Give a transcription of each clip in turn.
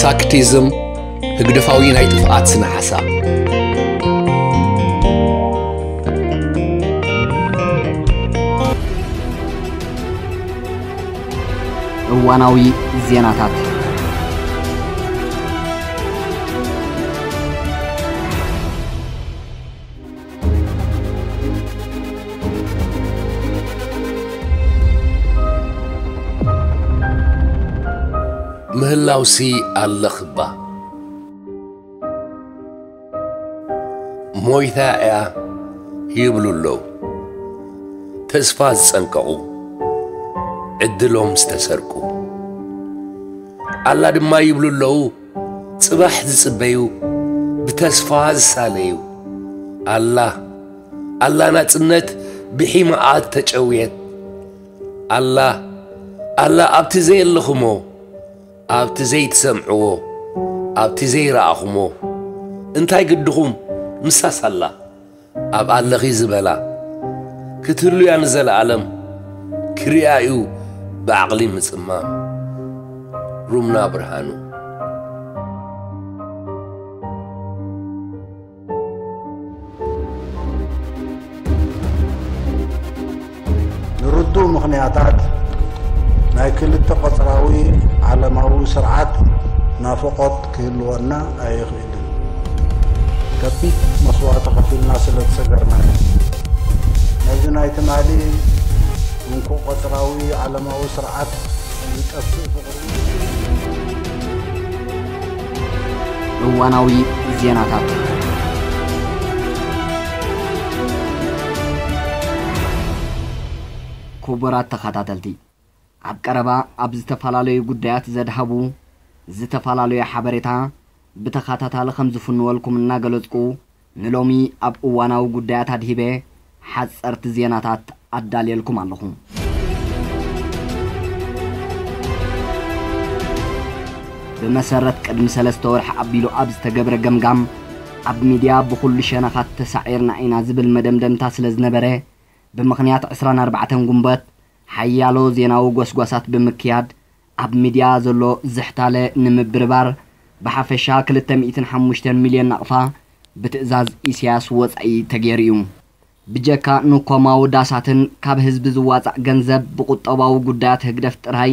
ሳክቲዝም ህግደፋዊ ናይ ጥፍኣት ስነ ሓሳብ። እዋናዊ ዜናታት። ምህላውሲ ኣለኽባ። ሞይታ እያ ይብሉ ኣለዉ። ተስፋ ዝጸንቀቑ፣ ዕድሎም ዝተሰርቁ። ኣላ ድማ ይብሉ ኣለዉ፣ ጽባሕ ዝጽበዩ፣ ብተስፋ ዝሳለዩ። ኣላ፣ ኣላ ናጽነት ብሒማኣ ተጨውየት። ኣላ፣ ኣላ ኣብቲ ዘየለኹሞ፣ ኣብቲ ዘይትሰምዕዎ፣ ኣብቲ ዘይረኣኹሞ። እንታይ ግድኹም? ንሳስ ኣላ። ኣብ ኣለኺ ዝበላ ክትህሉ እያ ንዘለኣለም። ክሪኣ እዩ ብዓቕሊ ምጽማም። ሩምና ብርሃኑ። ንርዱእ ምኽንያታት ናይ ክልተ ቀጽራዊ ዓለማዊ ስርዓት ናፍቖት ክህልወና ኣይኽእልን። ከቢድ መስዋእቲ ከፊልና ስለ ዝሰገርና እዩ። ነዚ ናይ ትማሊ እንኮ ቀጽራዊ ዓለማዊ ስርዓት ዝጠፍእ ፍቕሪ። እዋናዊ ዜናታት። ክቡራት ተኸታተልቲ፣ ኣብ ቀረባ ኣብ ዝተፈላለዩ ጉዳያት ዘድሃቡ ዝተፈላለዩ ሓበሬታ ብተኸታታሊ ከም ዝፍንወልኩም እናገለጽኩ፣ ንሎሚ ኣብ እዋናዊ ጉዳያት ኣድሂበ ሓጸርቲ ዜናታት ኣዳልየልኩም ኣለኹ። ብመሰረት ቅድሚ ሰለስተ ወርሒ ኣቢሉ ኣብ ዝተገብረ ገምጋም፣ ኣብ ሚድያ ብኹሉ ሸነኻት ተሳዒርና ኢና ዝብል መደምደምታ ስለ ዝነበረ፣ ብምኽንያት ዕስራን ኣርባዕተን ጉንበት ሓያሎ ዜናዊ ጎስጓሳት ብምክያድ፣ ኣብ ሚድያ ዘሎ ዝሕታለ ንምብርባር፣ ብሓፈሻ ክልተ ሚእትን ሓሙሽተን ሚልዮን ናቕፋ ብትእዛዝ ኢሳያስ ወጻኢ ተገይሩ እዩ። ብጀካ ንኮማዊ ዳሳትን ካብ ህዝቢ ዝዋጻእ ገንዘብ ብቁጠባዊ ጉዳያት ህግደፍ ጥራይ፣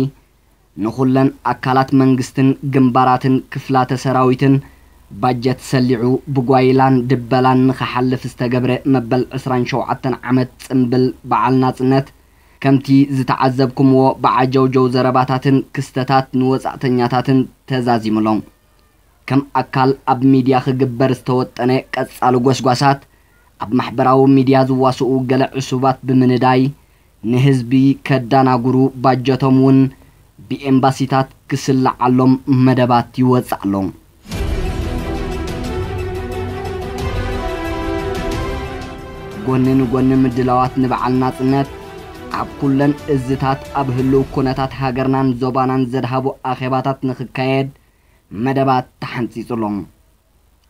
ንኹለን ኣካላት መንግስትን ግንባራትን ክፍላተ ሰራዊትን ባጀት ሰሊዑ ብጓይላን ድበላን ንኽሓልፍ ዝተገብረ መበል ዕስራን ሸውዓተን ዓመት ጽምብል በዓል ናጽነት፣ ከምቲ ዝተዓዘብኩምዎ ብዓጀውጀው ዘረባታትን ክስተታት ንወጻእተኛታትን ተዛዚሙሎም። ከም ኣካል ኣብ ሚድያ ክግበር ዝተወጠነ ቀጻሊ ጎስጓሳት፣ ኣብ ማሕበራዊ ሚድያ ዝዋስኡ ገለ ዕሱባት ብምንዳይ፣ ንህዝቢ ከዳናጉሩ ባጀቶም እውን ብኤምባሲታት ክስላዓሎም መደባት ይወጽእ ኣሎ። ጎኒ ንጎኒ ምድላዋት ንበዓል ናጽነት፣ ኣብ ኩለን እዝታት ኣብ ህልው ኩነታት ሃገርናን ዞባናን ዘድሃቡ ኣኼባታት ንኽካየድ መደባት ተሓንጺጹ ኣሎ።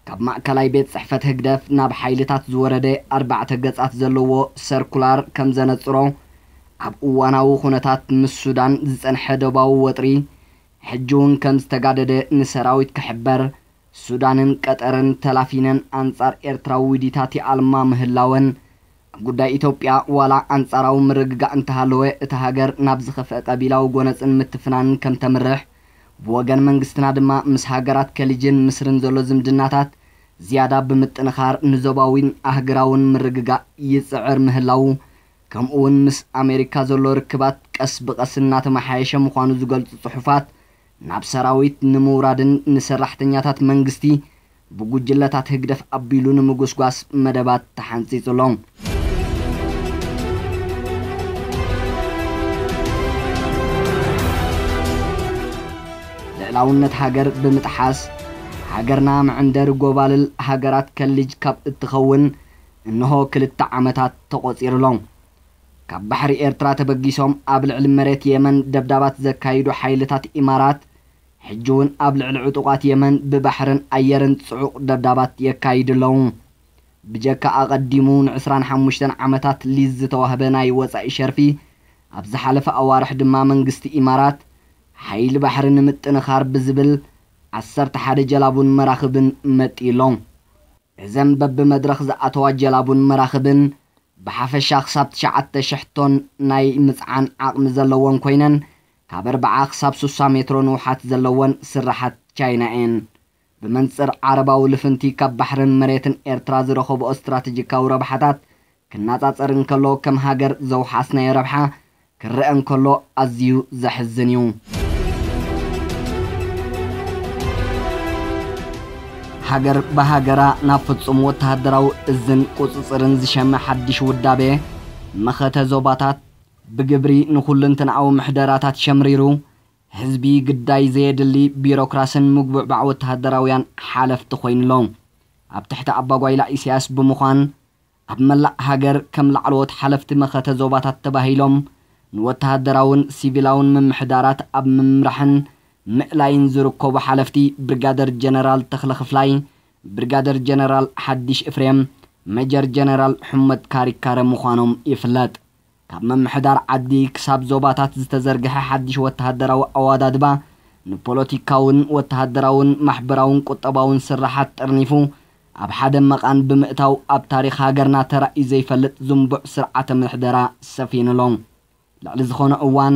ካብ ማእከላይ ቤት ጽሕፈት ህግደፍ ናብ ሓይልታት ዝወረደ ኣርባዕተ ገጻት ዘለዎ ሰርኩላር ከም ዘነጽሮ፣ ኣብ እዋናዊ ኩነታት ምስ ሱዳን ዝጸንሐ ዶባዊ ወጥሪ፣ ሕጂ እውን ከም ዝተጋደደ ንሰራዊት ክሕበር፣ ሱዳንን ቀጠርን ተላፊነን ኣንጻር ኤርትራ ውዲታት ይኣልማ ምህላወን፣ ኣብ ጉዳይ ኢትዮጵያ ዋላ ኣንጻራዊ ምርግጋእ እንተሃለወ፣ እታ ሃገር ናብ ዝኸፍአ ቀቢላዊ ጎነጽን ምትፍናንን ከም ተምርሕ፣ ብወገን መንግስትና ድማ ምስ ሃገራት ከሊጅን ምስርን ዘሎ ዝምድናታት ዝያዳ ብምጥንኻር ንዞባዊን ኣህግራውን ምርግጋእ ይጽዕር ምህላዉ፣ ከምኡውን ምስ ኣሜሪካ ዘሎ ርክባት ቀስ ብቐስ እናተመሓየሸ ምዃኑ ዝገልጹ ጽሑፋት፣ ናብ ሰራዊት ንምውራድን ንሰራሕተኛታት መንግስቲ ብጉጅለታት ህግደፍ ኣቢሉ ንምጉስጓስ መደባት ተሓንጺጹ ኣሎ። ልዕላውነት ሃገር ብምጥሓስ፣ ሃገርና መዕንደሪ ጎባልል ሃገራት ከልጅ ካብ እትኸውን እንሆ ክልተ ዓመታት ተቖጺሩ ኣሎ። ካብ ባሕሪ ኤርትራ ተበጊሶም ኣብ ልዕሊ መሬት የመን ደብዳባት ዘካይዱ ሓይልታት ኢማራት፣ ሕጂ እውን ኣብ ልዕሊ ዕጡቓት የመን ብባሕርን ኣየርን ጽዑቕ ደብዳባት የካይዱ ኣለዉ። ብጀካ ኣቐዲሙ ንዕስራን ሓሙሽተን ዓመታት ሊዝ ዝተዋህበ ናይ ወጻኢ ሸርፊ፣ ኣብ ዝሓለፈ ኣዋርሕ ድማ መንግስቲ ኢማራት፣ ሓይሊ ባሕሪ ንምጥንኻር ብዝብል ዓሰርተ ሓደ ጀላቡን መራኽብን መጢሎም። እዘን በብመድረኽ ዝኣተዋ ጀላቡን መራኽብን ብሓፈሻ ክሳብ ትሽዓተ ሽሕ ቶን ናይ ምጽዓን ዓቕሚ ዘለወን ኮይነን፣ ካብ ኣርብዓ ክሳብ ስሳ ሜትሮ ንውሓት ዘለወን ስራሓት ቻይና እየን። ብመንጽር ዓረባዊ ልፍንቲ ካብ ባሕርን መሬትን ኤርትራ ዝረኸብኦ ስትራተጂካዊ ረብሓታት ክነጻጸር እንከሎ፣ ከም ሃገር ዘውሓስናዮ ረብሓ ክረአ እንከሎ ኣዝዩ ዘሕዝን እዩ። ሃገር ብሃገራ ናብ ፍጹም ወተሃደራዊ እዝን ቁጽጽርን ዝሸመ ሓድሽ ውዳቤ መኸተ ዞባታት ብግብሪ ንኹልንትናዊ ምሕደራታት ሸምሪሩ፣ ህዝቢ ግዳይ ዘየድሊ ቢሮክራስን ምጉብዕባዕ ወተሃደራውያን ሓለፍቲ ኮይኑሎ። ኣብ ትሕቲ ኣባጓይላ ኢሳያስ ብምዃን፣ ኣብ መላእ ሃገር ከም ላዕለዎት ሓለፍቲ መኸተ ዞባታት ተባሂሎም ንወተሃደራውን ሲቪላውን ምምሕዳራት ኣብ ምምራሕን ምእላይን ዝርከቡ ሓለፍቲ ብርጋደር ጀነራል ተኽለ ክፍላይ፣ ብርጋደር ጀነራል ሓድሽ እፍሬም፣ ሜጀር ጀነራል ሑመድ ካሪካረ ምዃኖም ይፍለጥ። ካብ ምምሕዳር ዓዲ ክሳብ ዞባታት ዝተዘርግሐ ሓድሽ ወተሃደራዊ ኣወዳድባ፣ ንፖለቲካውን ወተሃደራውን ማሕበራውን ቁጠባውን ስራሓት ጠርኒፉ፣ ኣብ ሓደ መቓን ብምእታው፣ ኣብ ታሪኽ ሃገርና ተራእዩ ዘይፈልጥ ዝንቡዕ ስርዓተ ምሕደራ ሰፊኑሎ። ልዕሊ ዝኾነ እዋን፣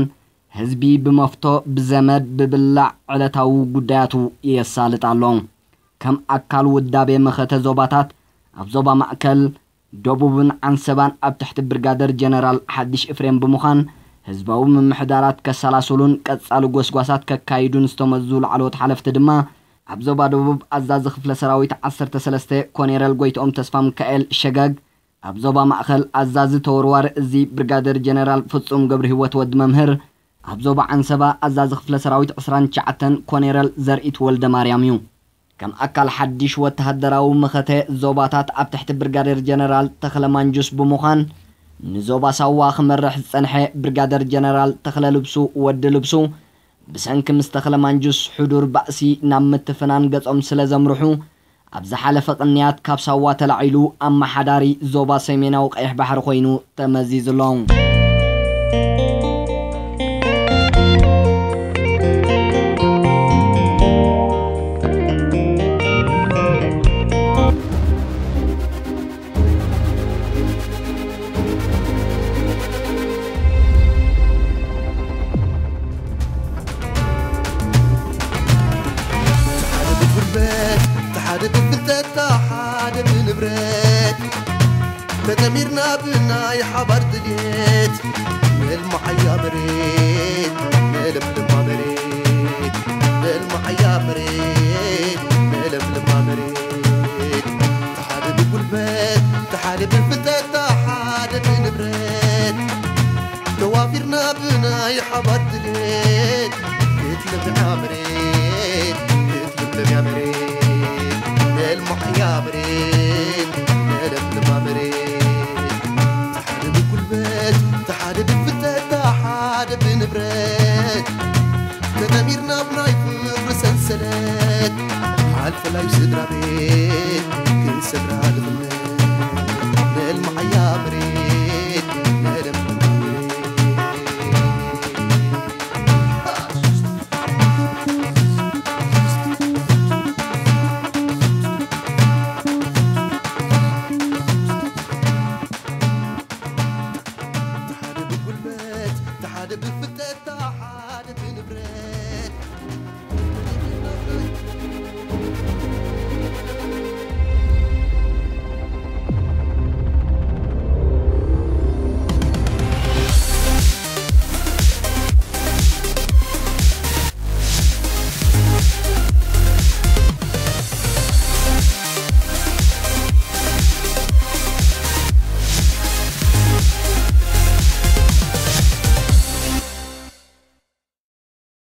ህዝቢ ብመፍቶ፣ ብዘመድ፣ ብብላዕ ዕለታዊ ጉዳያቱ የሳልጥ ኣሎ። ከም ኣካል ውዳቤ መኸተ ዞባታት፣ ኣብ ዞባ ማእከል፣ ደቡብን ዓንሰባን ኣብ ትሕቲ ብርጋደር ጀነራል ሓድሽ እፍሬም ብምዃን፣ ህዝባዊ ምምሕዳራት ከሰላስሉን ቀጻሊ ጎስጓሳት ከካይዱን ዝተመዙ ላዕለዎት ሓለፍቲ ድማ፣ ኣብ ዞባ ደቡብ ኣዛዚ ክፍለ ሰራዊት ዓሰርተ ሰለስተ ኮኔረል ጎይትኦም ተስፋሚካኤል ሸገግ፣ ኣብ ዞባ ማእከል ኣዛዚ ተወርዋሪ እዚ ብርጋደር ጀነራል ፍጹም ገብረሂወት ወዲ መምህር፣ ኣብ ዞባ ዓንሰባ ኣዛዚ ክፍለ ሰራዊት ዕስራን ትሽዓተን ኮኔረል ዘርኢት ወልደ ማርያም እዩ። ከም ኣካል ሓድሽ ወተሃደራዊ መኸተ ዞባታት ኣብ ትሕቲ ብርጋደር ጀነራል ተኽለ ማንጁስ ብምዃን፣ ንዞባ ሳዋ ክመርሕ ዝጸንሐ ብርጋደር ጀነራል ተኽለ ልብሱ ወዲ ልብሱ፣ ብሰንኪ ምስ ተኽለ ማንጁስ ሕዱር ባእሲ ናብ ምትፍናን ገጾም ስለ ዘምርሑ፣ ኣብ ዝሓለፈ ቅንያት ካብ ሳዋ ተላዒሉ ኣመሓዳሪ ዞባ ሰሜናዊ ቀይሕ ባሕሪ ኮይኑ ተመዚዙ ኣሎ። ሓደ ብጉልበት፣ ሓደ ብፍልጠት፣ ሓደ ብንብረት፣ ተጠሚርና ብናይ ሓባር ድልየት፣ ነልምዓያ መሬት፣ ነለምልማ መሬት፣ ነልምዓያ መሬት፣ ነለምልማ መሬት። ሓደ ብጉልበት፣ ሓደ ብፍልጠት፣ ሓደ ብንብረት፣ ተዋፊርና ብናይ ሓባር ድሌት፣ ክትለምልም እያ መሬት፣ ክትለምልም እያ መሬት፣ ነልምዓያ መሬት፣ ነለምልማ መሬት። ተሓደ ብጉልበት፣ ተሓደ ብፍልጠት፣ ተሓደ ብንብረት፣ ተጠሚርና ብናይ ፍቕሪ ሰንሰለት፣ ሓልፈላይ ስድራ ቤት፣ ክንሰግራ ልኽነት።